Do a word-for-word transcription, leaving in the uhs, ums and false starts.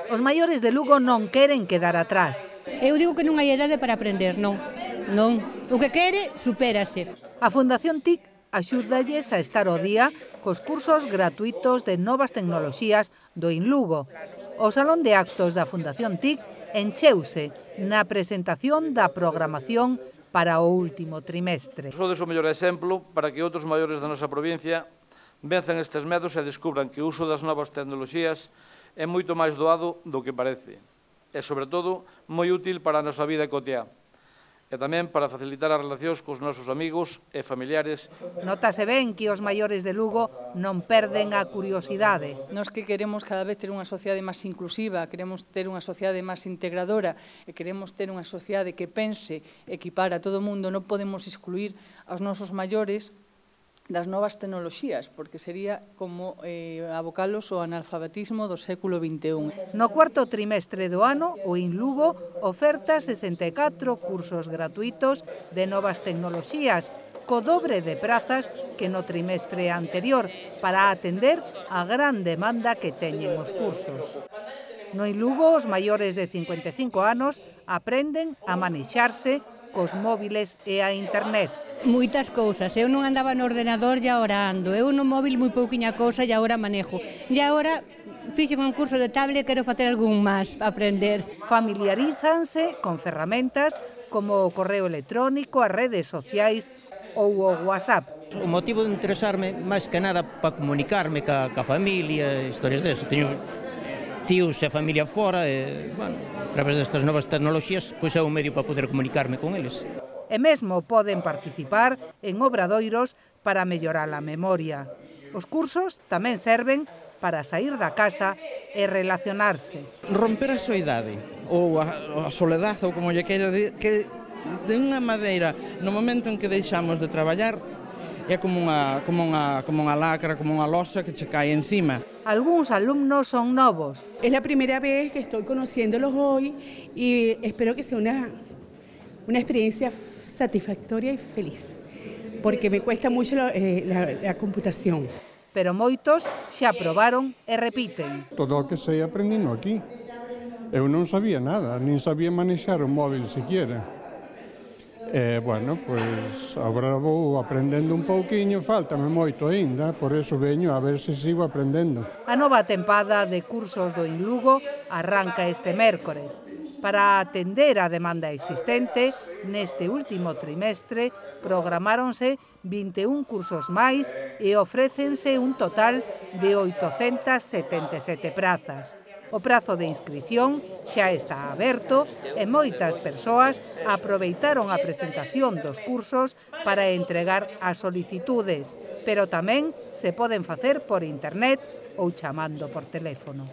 Os maiores de Lugo non queren quedar atrás. Eu digo que non hai idade para aprender, non. Non. O que quere, supérase. A Fundación T I C axúdalles a estar ao día cos cursos gratuitos de novas tecnoloxías do InLugo. O Salón de Actos da Fundación T I C encheuse na presentación da programación para o último trimestre. Sodes o mellor exemplo para que outros maiores da nosa provincia venzan estes medos e descubran que o uso das novas tecnoloxías é moito máis doado do que parece e, sobre todo, moi útil para a nosa vida cotiá e tamén para facilitar as relacións cos nosos amigos e familiares. Notase ben que os maiores de Lugo non perden a curiosidade. Nós que queremos cada vez ter unha sociedade máis inclusiva, queremos ter unha sociedade máis integradora e queremos ter unha sociedade que pense equipar a todo o mundo, non podemos excluir aos nosos maiores das novas tecnoloxías, porque sería como eh, abocalos ao analfabetismo do século vinte e un. No cuarto trimestre do ano, o InLugo oferta sesenta e catro cursos gratuitos de novas tecnoloxías, co dobre de prazas que no trimestre anterior, para atender a gran demanda que teñen os cursos. No InLugo, os maiores de cincuenta e cinco anos aprenden a manexarse cos móviles e a internet. Moitas cousas. Eu non andaba no ordenador e agora ando. Eu no móvil moi pouquiña cousa e agora manejo. E agora fixen un curso de tablet e quero facer algún máis, aprender. Familiarízanse con ferramentas como o correo electrónico, as redes sociais ou o WhatsApp. O motivo de interesarme, máis que nada, para comunicarme ca, ca familia, historias deso. Teño tíos e familia fora e, bueno, a través destas novas tecnoloxías, pois é un medio para poder comunicarme con eles. E mesmo poden participar en obradoiros para mellorar a memoria. Os cursos tamén serven para sair da casa e relacionarse. Romper a soidade ou a, a soledade, ou como lle quero dir, que de unha maneira, no momento en que deixamos de traballar, é como unha, como unha, como unha lacra, como unha losa que che cae encima. Algúns alumnos son novos. Es la primera vez que estoy conociéndolos hoy y espero que sea una, una experiencia satisfactoria y feliz, porque me cuesta mucho la, eh, la, la computación. Pero moitos xa probaron e repiten. Todo o que sei aprendino aquí. Eu non sabía nada, nin sabía manexar o móvil siquiera. E, bueno, pois, agora vou aprendendo un pouquiño, faltame moito aínda, por eso veño a ver se sigo aprendendo. A nova tempada de cursos do InLugo arranca este mércores. Para atender a demanda existente, neste último trimestre programáronse vinte e un cursos máis e ofrécense un total de oitocentas setenta e sete prazas. O prazo de inscrición xa está aberto e moitas persoas aproveitaron a presentación dos cursos para entregar as solicitudes, pero tamén se poden facer por internet ou chamando por teléfono.